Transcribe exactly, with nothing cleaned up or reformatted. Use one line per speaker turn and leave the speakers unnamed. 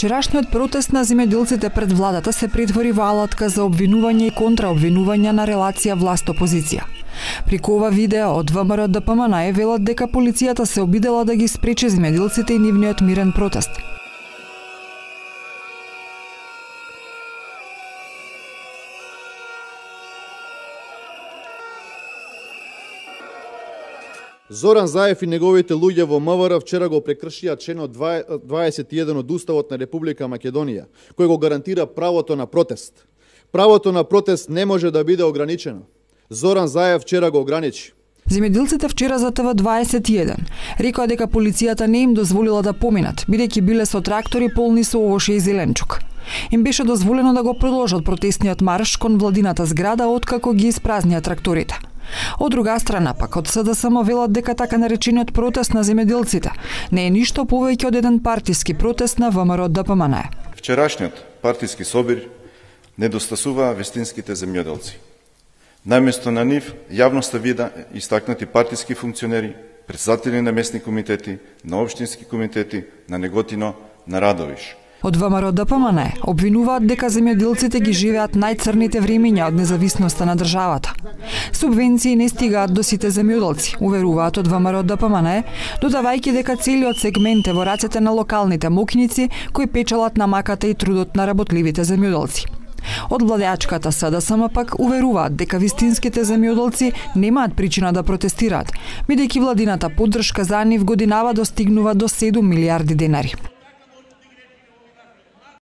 Вчерашниот протест на земјоделците пред владата се претвори во алатка за обвинување и контраобвинување на релација власт-опозиција. Преку ова видео од ВМРО Д П М Н Е велат дека полицијата се обидела да ги спречи земјоделците и нивниот мирен протест.
Зоран Заев и неговите луѓе во М В Р вчера го прекршија членот дваесет и еден од Уставот на Република Македонија, кој го гарантира правото на протест. Правото на протест не може да биде ограничено. Зоран Заев вчера го ограничи.
Земјоделците вчера за Т В дваесет и еден рекоа дека полицијата не им дозволила да поминат, бидејќи биле со трактори полни со овоше и зеленчук. Им беше дозволено да го продолжат протестниот марш кон владината зграда откако ги испразнија тракторите. Од друга страна пак од С Д С М велат дека така наречениот протест на земјоделците не е ништо повеќе од еден партиски протест на В М Р Д П М Н Е.
Вчерашниот партиски собир недостасува вестинските земјоделци. Наместо на нив јавноста вида истакнати партиски функционери, претседатели на местни комитети, на општински комитети, на Неготино, на Радовиш.
Од В М Р Д П М Н Е обвинуваат дека земјоделците ги живеат најцрните времиња од независноста на државата. Субвенции не стигаат до сите земјоделци, уверуваат од В М Р Д П М Н Е, додавајќи дека целиот сегмент е во рацете на локалните моќници кои печелат намаката и трудот на работливите земјоделци. Од владеачката С Д С М пак уверуваат дека вистинските земјоделци немаат причина да протестираат, бидејќи владината поддршка за нив годинава достигнува до седум милијарди денари.